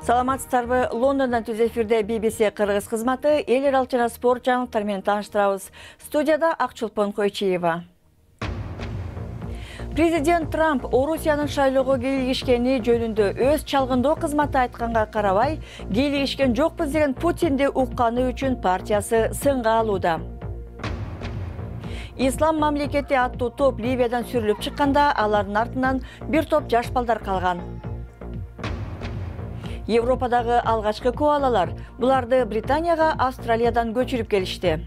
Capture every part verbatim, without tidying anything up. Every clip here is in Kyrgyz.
Саламатсыздарбы? Лондондон түз эфирде би би си кыргыз кызматы эл аралык жана спорт жаңылыктары менен тааныштырабыз. Студияда Акчулпон Койчиева. Президент Трамп Орусиянын шайлоого кийлигишкени жөнүндө өз чалгындоо кызматы айтканга карабай, кийлигишкен жокпуз деген Путинди укканы үчүн партиясы сынга алууда. Ислам мамлекети аттуу топ Ливиядан сүрүлүп чыкканда, алардын артынан бир топ жаш балдар калган. Европадагы алгачкы коалалар буларды Британияга Австралиядан көчүрүп келишти.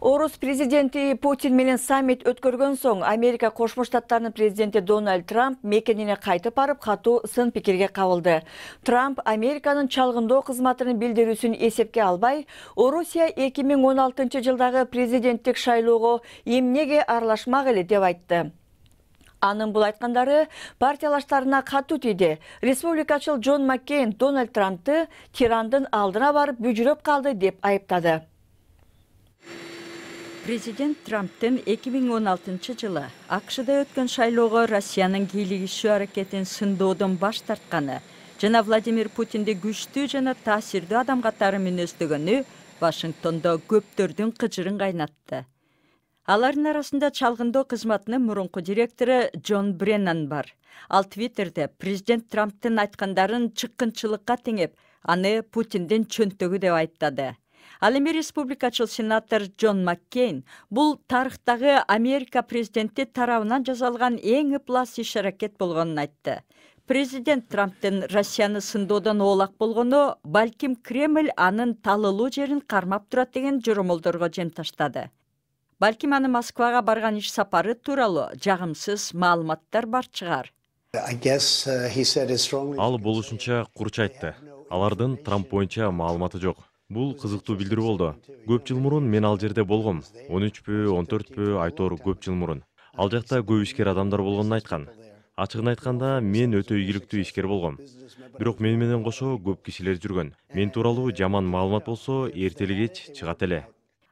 Орус президенти Путин менен саммит өткөргөн соң, Америка Кошмо Штаттарынын президенти Дональд Трамп мекенине кайтып барып, катуу сын пикирге кабылды. Трамп Американын чалгындоо кызматынын билдирүүсүн эсепке албай, Орусия эки миң он алтынчы жылдагы президенттик шайлоого эмнеге аралашмак эле деп айтты. Анын бул айткандары партиялаштарына катуу тийди. Республикачыл Джон Маккейн Дональд Трампты тирандын алдына барып бүжүрөп калды деп айыптады. Президент Трамптын эки миң он алтынчы жылы АКШда өткөн шайлоого Россиянын кийлигишүү аракетин сындоодон баш тартканы жана Владимир Путинди күчтүү жана таасирдүү адам катары мүнөздөгөнү Вашингтондо көптөрдүн кыжырын кайнатты. Алардын арасында чалгындоо кызматынын мурунку директору Джон Бреннан бар. Ал Твиттерде президент Трамптын айткандарын чыккынчылыкка теңеп, аны Путиндин чөнтөгү деп айыптады. Ал эми республикачыл сенатор Джон Маккейн бул тарыхтагы Америка президенти тарабынан жасалган эң ыплас иш-аракет болгонун айтты. Президент Трамптын Россияны сындоодон оолак болгону балким Кремль анын талылуу жерин кармап турат деген жоромолдорго жем таштады. Балким аны Москвага барган иш сапары тууралуу жагымсыз маалыматтар бар чыгар. Ал болушунча курч айтты. Алардын Трамп боюнча маалыматы жок. Бул кызыктуу билдирүү болду. Көп жыл мурун мен ал жерде болгом. он үчпү, он төртпү, айтор көп жыл мурун. Ал жакта көп ишкер адамдар болгонун айткан. Ачыгын айтканда, мен өтө ийгиликтүү ишкер болгом. Бирок мен менен кошо көп кишилер жүргөн. Мен тууралуу жаман маалымат болсо, эртели кеч чыгат эле.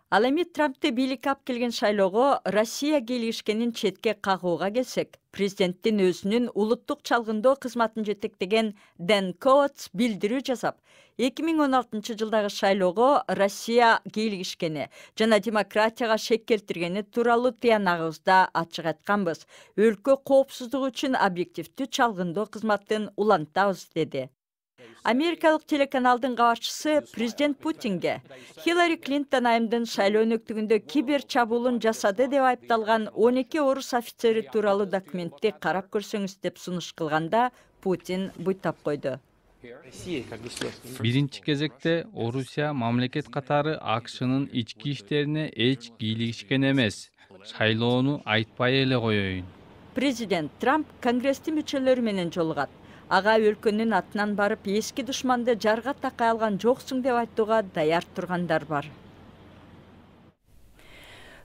Ал эми Трампты бийликке алып келген шайлоого Россия кийлигишкенин четке кагууга келсек, президенттин өзүнүн улуттук чалгындоо кызматын жетектеген Дэн Коутс билдирүү жасап, эки миң он алтынчы жылдагы шайлоого Россия кийлигишкени жана демократияга шек келтиргени тууралуу тыянагыбызда ачык айтканбыз. Өлкө коопсуздугу үчүн объективдүү чалгындоо кызматын улантабыз деди. Америкалык телеканалдын кабарчысы президент Путинге Хиллари Клинтон айымдын шайлоо өнөктүгүндө кибер чабуулун жасады деп айыпталган он эки орус офицери тууралуу документти карап көрсөңүз деп сунуш кылганда, Путин буйтап койду. Биринчи кезекте Орусия мамлекет катары АКШнын ички иштерине эч кийлигишкен эмес. Шайлоону айтпай эле коеюн. Президент Трамп Конгресстин мүчөлөрү менен жолугат. Ага өлкөнүн атынан барып эски душманды жарга такай алган жоксуң деп айтууга даяр тургандар бар.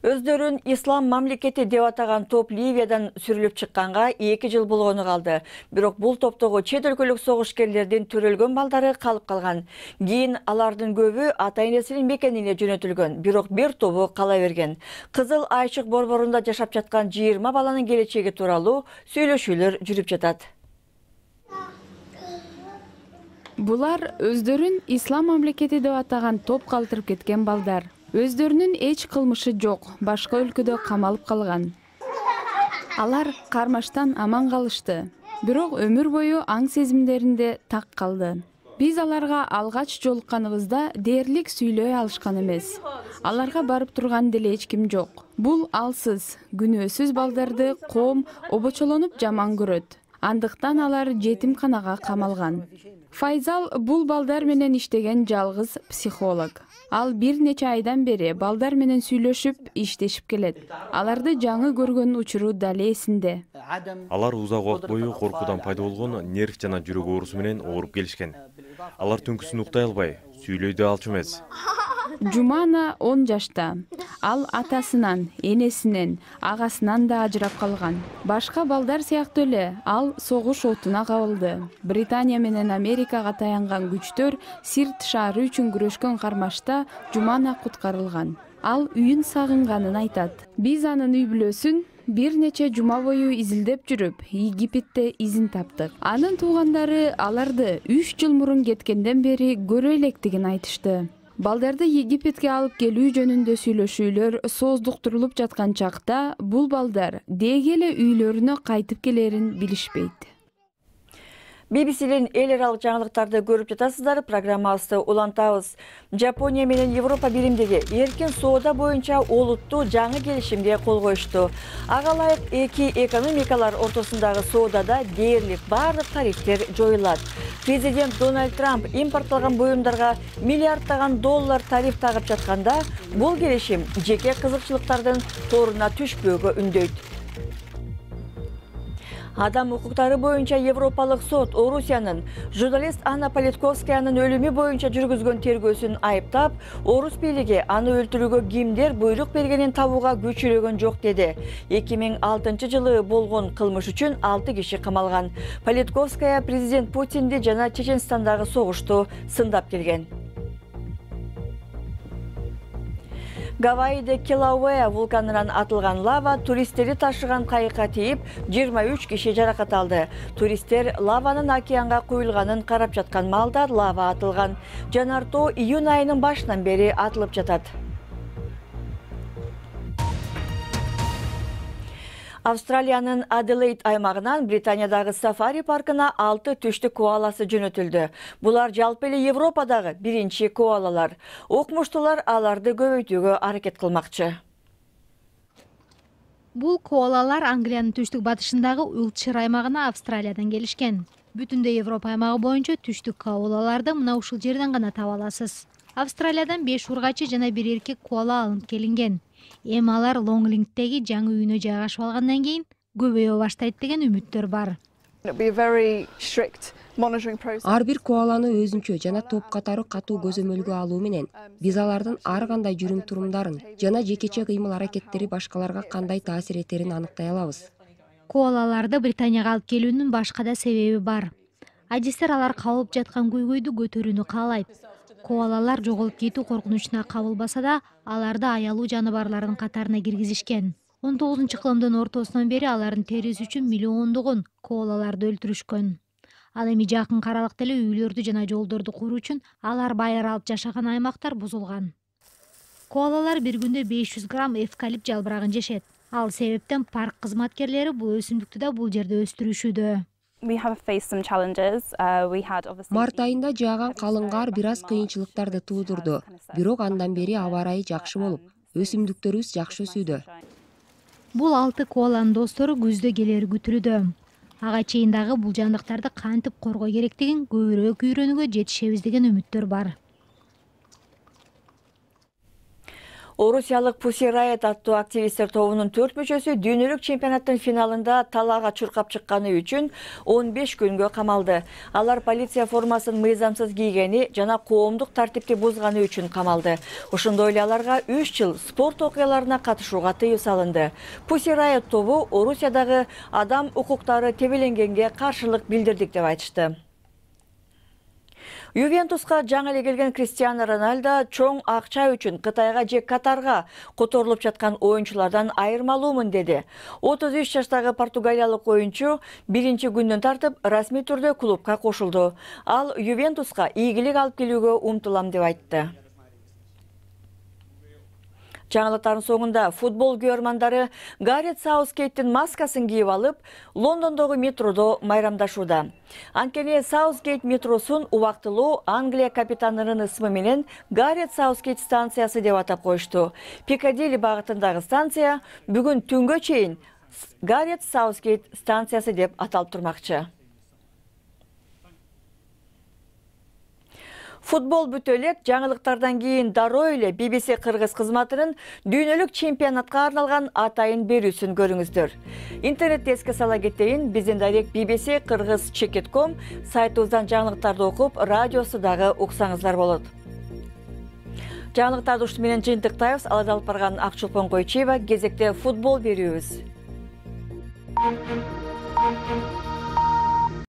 Өздөрүн ислам мамлекети деп атаган топ Ливиядан сүрүлүп чыкканга эки жыл болгону калды. Бирок бул топтогу чет өлкөлүк согушкерлердин төрөлгөн балдары калып калган. Кийин алардын көбү ата-энесинин мекенине жөнөтүлгөн, бирок бир тобу кала берген. Кызыл Айчык борборунда жашап жаткан жыйырма баланын келечеги тууралуу сүйлөшүүлөр жүрүп жатат. Булар өздөрүн ислам мамлекети деп атаган топ калтырып кеткен балдар. Өздөрүнүн эч кылмышы жок, башка өлкөдө камалып калган. Алар кармаштан аман калышты, бирок өмүр бою аң сезимдеринде так калды. Биз аларга алгач жолукканыбызда дээрлик сүйлөй алышкан эмес. Аларга барып турган деле эч ким жок. Бул алсыз, күнөөсүз балдарды коом обочолонуп жаман көрөт. Андыктан алар жетимканага камалган. Файзал бул балдар менен иштеген жалгыз психолог. Ал бир нече айдан бери балдар менен сүйлөшүп, иштешип келет. Аларды жаңы көргөн учуру дале эсинде. Алар узак убакыт бою коркуудан пайда болгон нерв жана жүрөк оорусу менен ооруп келишкен. Алар түнкүсүн уктай албай, сүйлөй да алчу эмес. Жумана он жашта. Ал атасынан, энесинен, агасынан да ажырап калган. Башка балдар сыяктуу эле ал согуш отуна кабылды. Британия менен Америкага таянган күчтөр Сирт шаары үчүн күрөшкөн кармашта Жумана куткарылган. Ал үйүн сагынганын айтат. Биз анын үй бүлөсүн бир нече жума бою изилдеп жүрүп, Египетте изин таптык. Анын туугандары аларды үч жыл мурун кеткенден бери көрө электигин айтышты. Балдарды Египетке алып келүү жөнүндө сүйлөшүүлөр сооздуктурулуп жаткан чакта бул балдар деги эле үйлөрүнө кайтып келерин билишпейт. би би синин эл аралык жаңылыктарды көрүп жатасыздар. Программабызды улантабыз. Жапония менен Европа биримдиги эркин соода боюнча олуттуу жаңы келишимге кол коюшту. Ага ылайык эки экономикалар ортосундагы соодада дээрлик баардык тарифтер жоюлат. Президент Дональд Трамп импортталган буюмдарга миллиарддаган доллар тариф тагып жатканда, бул келишим жеке кызыкчылыктардын торуна түшпөөгө үндөйт. Адам укуктары боюнча Европалык сот Орусиянын журналист Анна Политковскаянын өлүмү боюнча жүргүзгөн тергөөсүн айыптап, Орус бийлиги аны өлтүрүүгө кимдер буйрук бергенин табууга күчүрөгөн жок деди. эки миң алтынчы жылы болгон кылмыш үчүн алты киши камалган. Политковская президент Путинди жана Чеченстандагы согушту сындап келген. Гавайиде Килауэа вулканынан атылган лава туристтерди ташыган кайыкка тийип, жыйырма үч киши жаракат алды. Туристтер лаванын океанга куюлганын карап жаткан маалда лава атылган. Жанар тоо июнь айынын башынан бери атылып жатат. Австралиянын Аделаид аймагынан Британиядагы сафари паркына алты түштүк коаласы жөнөтүлдү. Булар жалпы эле Европадагы биринчи коалалар. Окумуштуулар аларды көбөйтүүгө аракет кылмакчы. Бул коалалар Англиянын түштүк батышындагы Уилтшир аймагына Австралиядан келишкен. Бүтүндөй Европа аймагы боюнча түштүк коалаларды мына ушул жерден гана таба аласыз. Австралиядан беш ургачы жана бир эркек коала алынып келинген. Эми алар Лонглингдеги жаңы үйүнө жайгашып алгандан кийин көбөйө баштайт деген үмүттөр бар. Ар бир коаланы өзүнчө жана топ катары катуу көзөмөлгө алуу менен биз алардын ар кандай жүрүм турумдарын жана жекече кыймыл аракеттери башкаларга кандай таасир этерин аныктай алабыз. Коалаларды Британияга алып келүүнүн башка да себеби бар. Адистер алар кабылып жаткан көйгөйдү көтөрүүнү каалайт. Коалалар жоголуп кетүү коркунучуна кабылбаса да, аларды аялуу жаныбарлардын катарына киргизишкен. он тогузунчу кылымдын ортосунан бери алардын териси үчүн миллиондогон коалаларды өлтүрүшкөн. Ал эми жакын каралыкта эле үйлөрдү жана жолдорду куруу үчүн алар байыр алып жашаган аймактар бузулган. Коалалар бир күндө беш жүз грамм эвкалипт жалбырагын жешет. Ал себептен парк кызматкерлери бул өсүмдүктү да бул жерде өстүрүшүүдө. Март айында жааган калың кар бир аз кыйынчылыктарды туудурду. Бирок андан бери аба ырайы жакшы болуп, өсүмдүктөрүбүз жакшы өсүүдө. Бул алты коаланын достору күздө келери күтүлүүдө. Ага чейин дагы бул жандыктарды кантип коргоо керектигин көбүрөөк үйрөнүүгө жетишебиз деген үмүттөр бар. Орусиялык Pussy Riot аттуу активисттер тобунун төрт мүчөсү дүйнөлүк чемпионаттын финалында талаага чуркап чыкканы үчүн он беш күнгө камалды. Алар полиция формасын мыйзамсыз кийгени жана коомдук тартипти бузганы үчүн камалды. Ошондой эле аларга үч жыл спорт окуяларына катышууга тыюу салынды. Pussy Riot тобу Орусиядагы адам укуктары тебеленгенге каршылык билдирдик деп айтышты. Ювентуска жаңы эле келген Криштиану Роналдо чоң акча үчүн Кытайга же Катарга которулуп жаткан оюнчулардан айырмалуумун деди. отуз үч жаштагы португалиялык оюнчу биринчи күндөн тартып расмий түрдө клубка кошулду. Ал Ювентуска ийгилик алып келүүгө умтулам деп айтты. Жаңылыктардын соңунда футбол күйөрмандары Гарет Саутгейттин маскасын кийип алып, Лондондогу метродо майрамдашууда. Анткени Саутгейт метросун убактылуу Англия капитанынын ысмы менен Гарет Саутгейт станциясы деп атап коюшту. Пикадилли багытындагы станция бүгүн түнгө чейин Гарет Саутгейт станциясы деп аталып турмакчы. Футбол бүтө элек, жаңылыктардан кийин дароо эле би би си кыргыз кызматынын дүйнөлүк чемпионатка арналган атайын берүүсүн көрүңүздөр. Интернетте эске сала кетейин, биздин дайрек би би си кыргыз чекит точка ком сайтыбыздан жаңылыктарды окуп, радиосу дагы уксаңыздар болот. Жаңылыктарды ушуну менен жыйынтыктайбыз. Аларды алып барган Акчулпон Койчиева. Кезекте футбол берүүбүз.